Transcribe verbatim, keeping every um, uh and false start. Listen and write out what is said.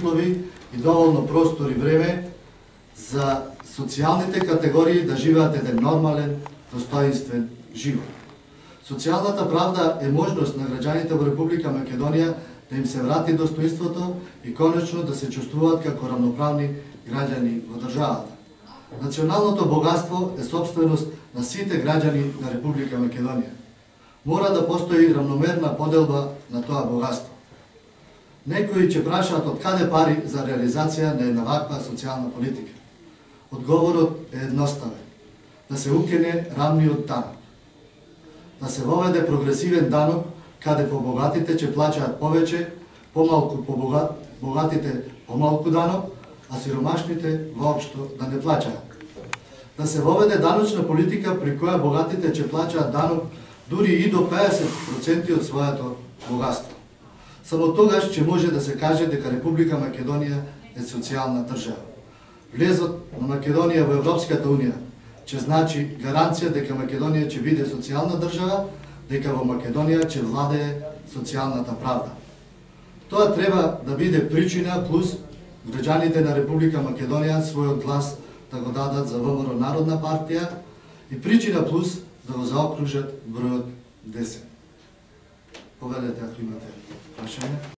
услови и доволно простор и време за социјалните категории да живеат еден нормален, достоинствен живот. Социјалната правда е можност на граѓаните во Република Македонија да им се врати достоинството и конечно да се чувствуваат како рамноправни граѓани во државата. Националното богатство е собственост на сите граѓани на Република Македонија. Мора да постои рамномерна поделба на тоа богатство. Некои ќе прашаат од каде пари за реализација на една ваква социјална политика. Одговорот е едноставен. Да се укине рамниот данок. Да се воведе прогресивен данок каде побогатите ќе плаќаат повеќе, помалку побогат, богатите помалку данок, а сиромашните воопшто да не плаќаат. Да се воведе даночна политика при која богатите ќе плаќаат данок дури и до педесет проценти од своето богатство. Само тогаш ќе може да се каже дека Република Македонија е социјална држава. Влезот на Македонија во Европската унија ќе значи гаранција дека Македонија ќе биде социјална држава, дека во Македонија ќе владее социјалната правда. Тоа треба да биде причина плюс граѓаните на Република Македонија својот глас да го дадат за ВМРО Народна партија и причина плюс да го заокружат бројот десет. Повелете ако имате прашање.